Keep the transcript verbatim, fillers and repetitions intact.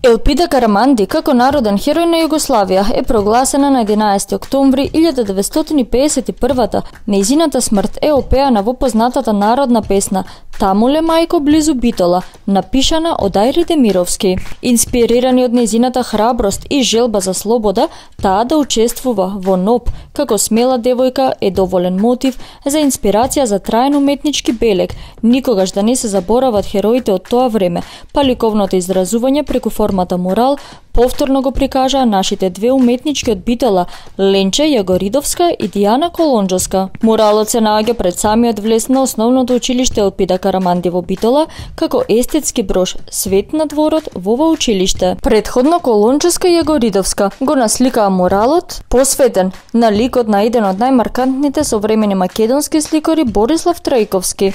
Елпида Караманди како народен херој на Југославија е прогласена на единаесети октомври илјада деветстотини пеесет и прва. Нејзината смрт е опеана во познатата народна песна "Тамуле мајко близу Битола", напишана од Ајри Демировски. Инспирирани од нејзината храброст и желба за слобода, таа да учествува во НОБ како смела девојка е доволен мотив за инспирација за траен уметнички белег, никогаш да не се заборават хероите од тоа време, па ликовното изразување преку формата мурал повторно го прикажаа нашите две уметнички од Битола, Ленче Јагоридовска и Дијана Колонџоска. Муралот се наоѓа пред самиот влез на основното училиште Елпида Караманди во Битола, како естетски брош "Свет на дворот" во ова училиште. Предходно Колонџоска и Јагоридовска го насликаа муралот, посветен на ликот на еден од најмаркантните современи македонски сликари Борислав Трајковски.